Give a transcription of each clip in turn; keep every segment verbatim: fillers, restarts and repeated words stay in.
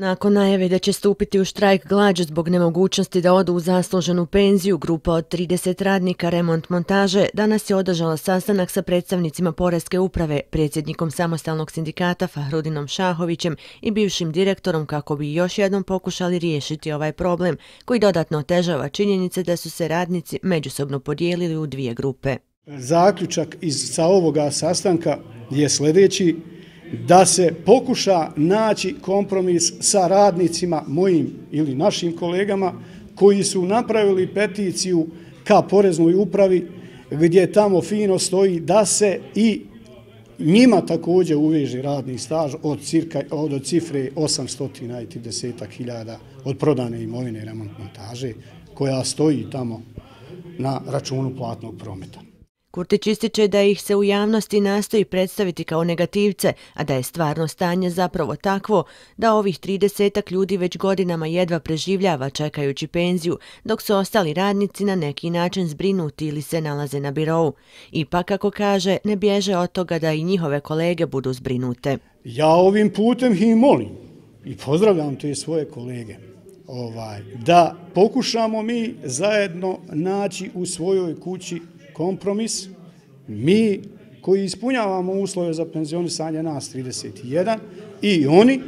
Nakon najave da će stupiti u štrajk glađu zbog nemogućnosti da odu u zasluženu penziju, grupa od trideset radnika remont montaže danas je održala sastanak sa predstavnicima Poreske uprave, predsjednikom samostalnog sindikata Fahrudinom Šahovićem i bivšim direktorom kako bi još jednom pokušali riješiti ovaj problem koji dodatno otežava činjenice da su se radnici međusobno podijelili u dvije grupe. Zaključak iz sa ovoga sastanka je sljedeći: da se pokuša naći kompromis sa radnicima, mojim ili našim kolegama, koji su napravili peticiju ka Poreznoj upravi gdje tamo fino stoji da se i njima također uveže radni staž od, cirka, od cifre osamsto trideset hiljada od prodane imovine remont montaže koja stoji tamo na računu platnog prometa. Kurtić ističe da ih se u javnosti nastoji predstaviti kao negativce, a da je stvarno stanje zapravo takvo da ovih tridesetak ljudi već godinama jedva preživljava čekajući penziju, dok su ostali radnici na neki način zbrinuti ili se nalaze na birou. Ipak, kako kaže, ne bježe od toga da i njihove kolege budu zbrinute. Ja ovim putem ih molim i pozdravljam te svoje kolege ovaj, da pokušamo mi zajedno naći u svojoj kući kompromis, mi koji ispunjavamo uslove za penzionisanje nas trideset jedan i oni,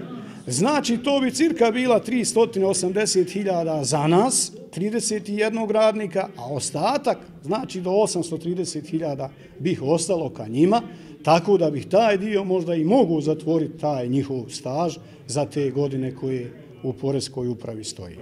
znači to bi cirka bila tristo osamdeset hiljada za nas, trideset jedan radnika, a ostatak, znači do osamsto trideset hiljada bih ostalo ka njima, tako da bih taj dio možda i mogu zatvoriti taj njihov staž za te godine koje u Poreskoj upravi stoji.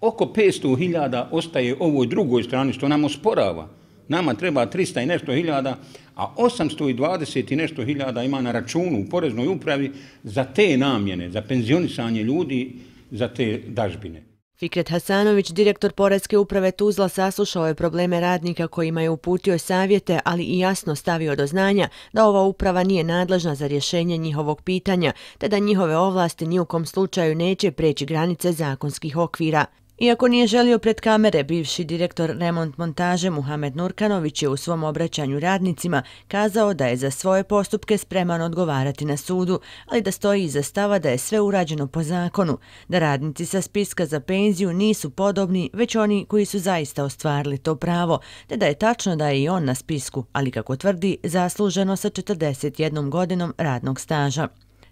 Oko petsto hiljada ostaje ovoj drugoj strani što nam osporava. Nama treba trista i nešto hiljada, a osamsto dvadeset i nešto hiljada ima na računu u Poreznoj upravi za te namjene, za penzionisanje ljudi, za te dažbine. Fikret Hasanović, direktor Poreske uprave Tuzla, saslušao je probleme radnika kojima je uputio savjete, ali i jasno stavio do znanja da ova uprava nije nadležna za rješenje njihovog pitanja, te da njihove ovlasti ni u kom slučaju neće preći granice zakonskih okvira. Iako nije želio pred kamere, bivši direktor remont montaže Muhamed Nurkanović je u svom obraćanju radnicima kazao da je za svoje postupke spreman odgovarati na sudu, ali da stoji iza stava da je sve urađeno po zakonu, da radnici sa spiska za penziju nisu podobni, već oni koji su zaista ostvarili to pravo, te da je tačno da je i on na spisku, ali kako tvrdi, zasluženo sa četrdeset jednom godinom radnog staža.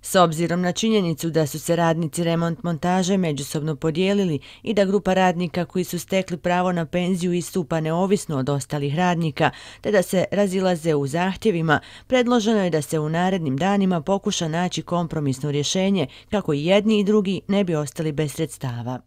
S obzirom na činjenicu da su se radnici remont montaže međusobno podijelili i da grupa radnika koji su stekli pravo na penziju istupa neovisno od ostalih radnika, te da se razilaze u zahtjevima, predloženo je da se u narednim danima pokuša naći kompromisno rješenje kako i jedni i drugi ne bi ostali bez sredstava.